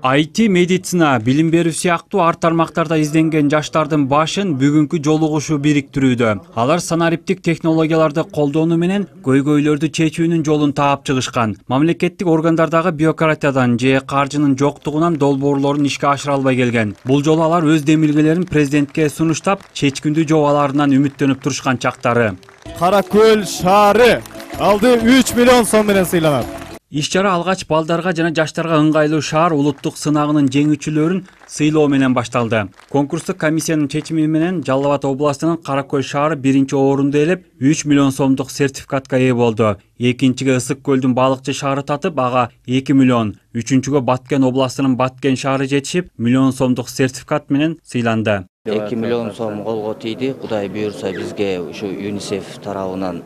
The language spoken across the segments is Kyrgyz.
IT, медицина, билим берүү сыяктуу ар тармактарда изденген жаштардын башын бүгүнкү жолугушуу бириктирүүдө. Алар санариптик технологияларды колдонуу менен көйгөйлөрдү чечүүнүн жолун таап чыгышкан. Мамлекеттик органдардагы бюрократиядан же каржынын жоктугунан долбоорлорун ишке ашыра албай келген. Бул жолу алар өз демилгелерин президентке сунуштап, чечкиндүү жобаларынан үмүттөнүп турушкан чактары. Кара Көл шаары алды 3 миллион сом менен сыйланат. Иш-чара алгач балдарга жана жаштарга ыңгайлуу шаар улуттук сынагынын жеңүүчүлөрүн сыйлоо менен башталды. Конкурстук комиссиянын чечими менен Жалал Абад областынын Кара Көл шаары биринчи орунду ээлеп, 3 миллион сомдук сертификатка ээ болду. Экинчиге Ысык көлдүн Балыкчы шаары татып, ага 2 миллион. Үчүнчүгө Баткен областынын Баткен шаары жетишип, миллион сомдук сертификат менен сыйланды. 2 миллион сом колго тийди. Кудай буйрса бизге ушу ЮНИСЕФ тарабынан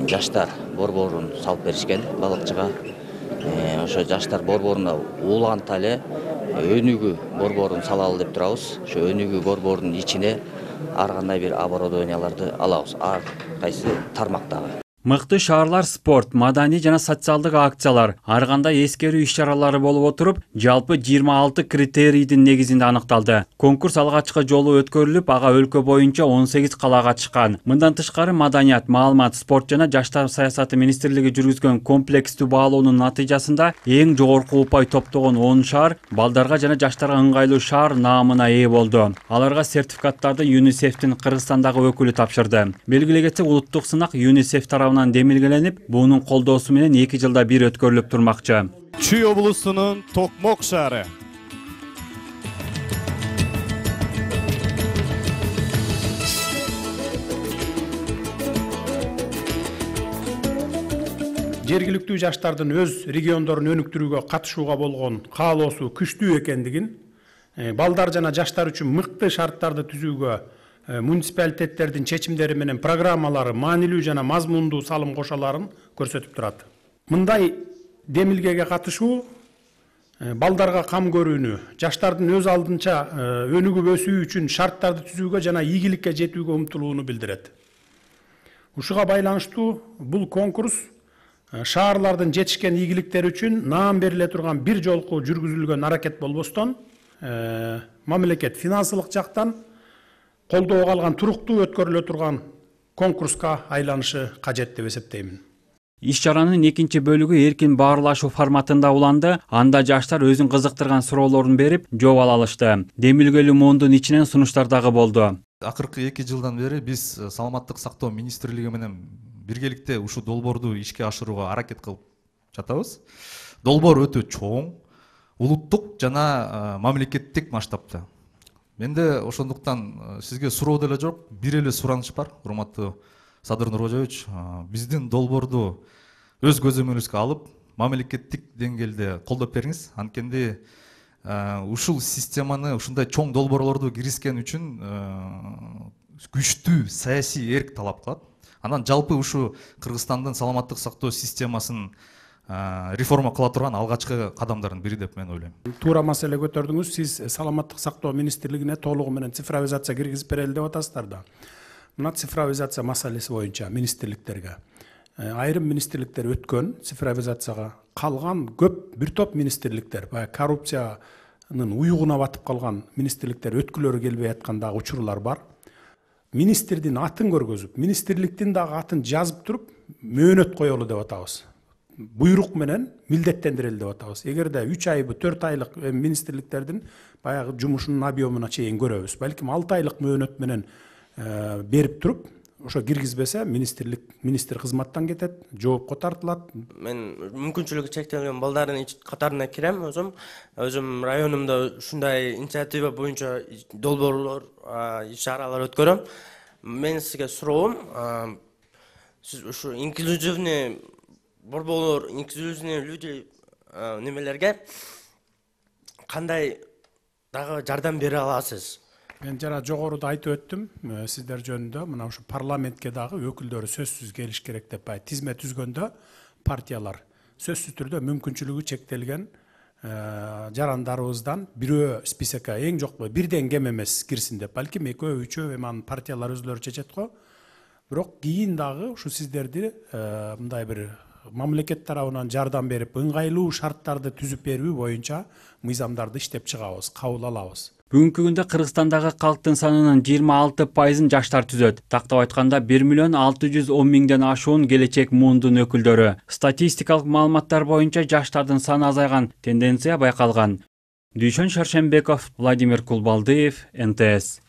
жаштар борборун салып беришкен Балыкчыга. Ошо жаштар борборуна уланта эле өнүгүү борборун салалы деп турабыз. Ошо өнүгүү борборунун ичине ар кандай бир оборудованияларды алабыз. Ар кайсы тармактагы. Мыкты шаарлар спорт, маданий жана социалдык акциялар, ар кандай эскерүү иш-чаралары болуп отуруп, жалпы 26 критерийдин негизинде аныкталды. Конкурс алгачкы жолу өткөрүлүп, ага өлкө боюнча 18 кала катышкан. Мындан тышкары маданият, маалымат, спорт жана жаштар саясаты министрлиги жүргүзгөн комплекстүү баалоонун натыйжасында эң жогорку упай топтогон 10 шаар балдарга жана жаштарга ыңгайлуу шаар наамына ээ болду. Аларга сертификаттарды ЮНИСЕФтин Кыргызстандагы өкүлү тапшырды. Белгилей кетсек, улуттук сынак ЮНИСЕФ тарабынан демилгеленип, буунун колдоосу менен 2 жылда бир өткөрүлүп турмакчы. Чүй облусунун Токмок шаары. Жергиликтүү жаштардын өз региондорун өнүктүрүүгө катышууга болгон каалоосу күчтүү экендигин, балдар жана жаштар үчүн мыкты шарттарды түзүүгө муниципалитеттердин чечимдери менен программалары маанилүү жана мазмундуу салым кошаларын көрсөтүп турат. Мындай демилгеге катышуу балдарга кам көрүүнү, жаштардын өз алдынча өнүгүп өсүү үчүн шарттарды түзүүгө жана ийгиликке жетүүгө умтулууну билдирет. Ушуга байланыштуу бул конкурс шаарлардын жетишкен ийгиликтери үчүн наам бериле турган бир жолку жүргүзүлгөн аракет болбостон, мамлекет финансылык жактан колдоого алган туруктуу өткөрүлө турган конкурска айланышы кажет деп эсептеймин. Иш-чаранын экинчи бөлүгү эркин баарлашуу форматында уланды. Анда жаштар өзүн кызыктырган суроолорун берип, жооп ала алышты. Демилгелүү муундун ичинен сунуштар дагы болду. Акыркы 2 жылдан бери биз саламаттык сактоо министрлиги менен биргеликте ушу долбоорду ишке ашырууга аракет кылып жатабыз. Долбоор өтө чоң, улуттук жана мамлекеттик масштабта. Менде ошондуктан сизге суроо деле жок, бир эле сураныш бар, урматтуу Садыр Нуркожоевич. Биздин долбоорду өз көзөмөлүңүзгө алып, мамлекеттик деңгээлде колдоп бериңиз. Анткенде ушул системаны, ушундай чоң долбоорлорду киргизген үчүн күчтүү саясий эрк талап кылат. Анан жалпы ушу Кыргызстандын саламаттык сактоо системасын реформа кыла турган алгачкы кадамдардын бири деп мен ойлойм. Туура маселе көтөрдүңүз. Сиз саламаттык сактоо министрлигине толугу менен цифровизация киргизип берели деп атасыздар да. Мына цифровизация маселеси боюнча министрликтерге айрым министрликтер өткөн цифровизацияга, калган көп бир топ министрликтер баягы коррупциянын уюгуна батып калган министрликтер өткүлөрү келбей аткан дагы учурлар бар. Министрдин атын көргөзүп, министрликтин дагы атын жазып туруп, мөөнөт коелу деп атабыз. Буйрук менен милдеттендирели деп атабыз. Эгерде 3 айбы 4 айлык министрликтердин баягы жумушунун объемуна чейин көрөбүз. Балким 6 айлык мөөнөт менен берип туруп, ошо киргизбесе министр кызматтан кетет, жоопко тартылат. Мен мүмкүнчүлүгү чектелген балдардын катарына кирем өзүм. Өзүм районумда ушундай инициатива боюнча долбоорлор, иш-чаралар өткөрөм. Мен сизге суроом, сиз ушу инклюзивный борборлор, инклюзивный люди немелерге кандай дагы жардам бере аласыз? Мен жана жогоруда айтып өттүм сиздер жөнүндө. Мына ушу парламентке дагы өкүлдөрү сөзсүз келиш керек деп тизме түзгөндө партиялар сөзсүз түрдө мүмкүнчүлүгү чектелген жарандарыбыздан бирөө списокко эң жокпу бирден кем эмес кирсин деп. Балким экөө, үчөө эми анын партиялар өзлөрү чечет го. Бирок кийин дагы ушу сиздерди мындай бир мамлекет тарабынан жардам берип ыңгайлуу шарттарды түзүп берүү боюнча мыйзамдарды иштеп чыгабыз, кабыл алабыз. Бүгүнкү күндө Кыргызстандагы калктын санынын 26% жаштар түзөт. Тактап айтканда 1.610.000 ашуун келечек муундун өкүлдөрү. Статистикалык маалыматтар боюнча жаштардын саны азайган тенденция байкалган. Дүйшөн Шаршембеков, Владимир Кулбалдыев, НТС.